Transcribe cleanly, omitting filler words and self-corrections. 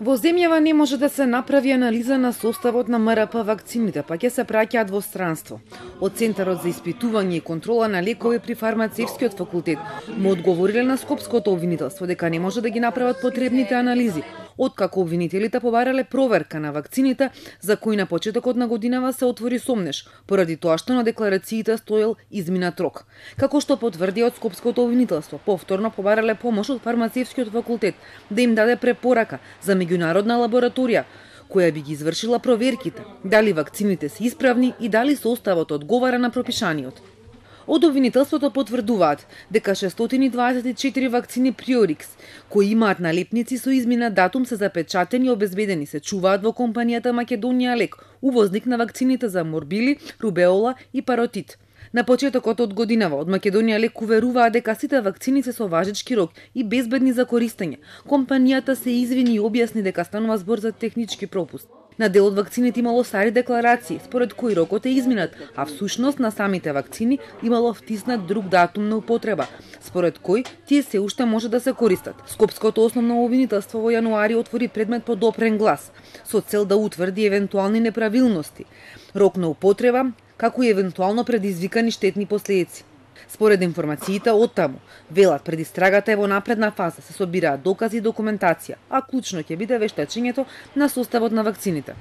Во земјава не може да се направи анализа на составот на МРП вакцините, па ќе се праќаат во странство. Од Центарот за испитување и контрола на лекови при Фармацевскиот факултет му одговориле на скопското обвинителство дека не може да ги направат потребните анализи, откако обвинителите побарале проверка на вакцините за кои на почетокот на годинава се отвори сомнеш, поради тоа што на декларациите стоел изминат рок. Како што потврди од скопското обвинителство, повторно побарале помош од Фармацевскиот факултет да им даде препорака за меѓународна лабораторија, која би ги извршила проверките, дали вакцините се исправни и дали составот одговара на пропишаниот. Од обвинителството потврдуваат дека 624 вакцини Приорикс, кои имаат налепници со изминат датум, се запечатени и обезбедени, се чуваат во компанијата Македонија Лек, увозник на вакцините за морбили, рубеола и паротит. На почетокот од годинава од Македонија Лек уверуваа дека сите вакцини се со важечки рок и безбедни за користење. Компанијата се извини и објасни дека станува збор за технички пропуст. На дел од вакцините имало стари декларации, според кои рокот е изминат, а всушност на самите вакцини имало втиснат друг датум на употреба, според кој тие се уште може да се користат. Скопското основно обвинителство во јануари отвори предмет по допрен глас, со цел да утврди евентуални неправилности, рок на употреба, како и евентуално предизвикани штетни последици. Според информациите од таму, велат пред истрагата е во напредна фаза, се собираат докази и документација, а клучно ќе биде вештачењето на составот на вакцините.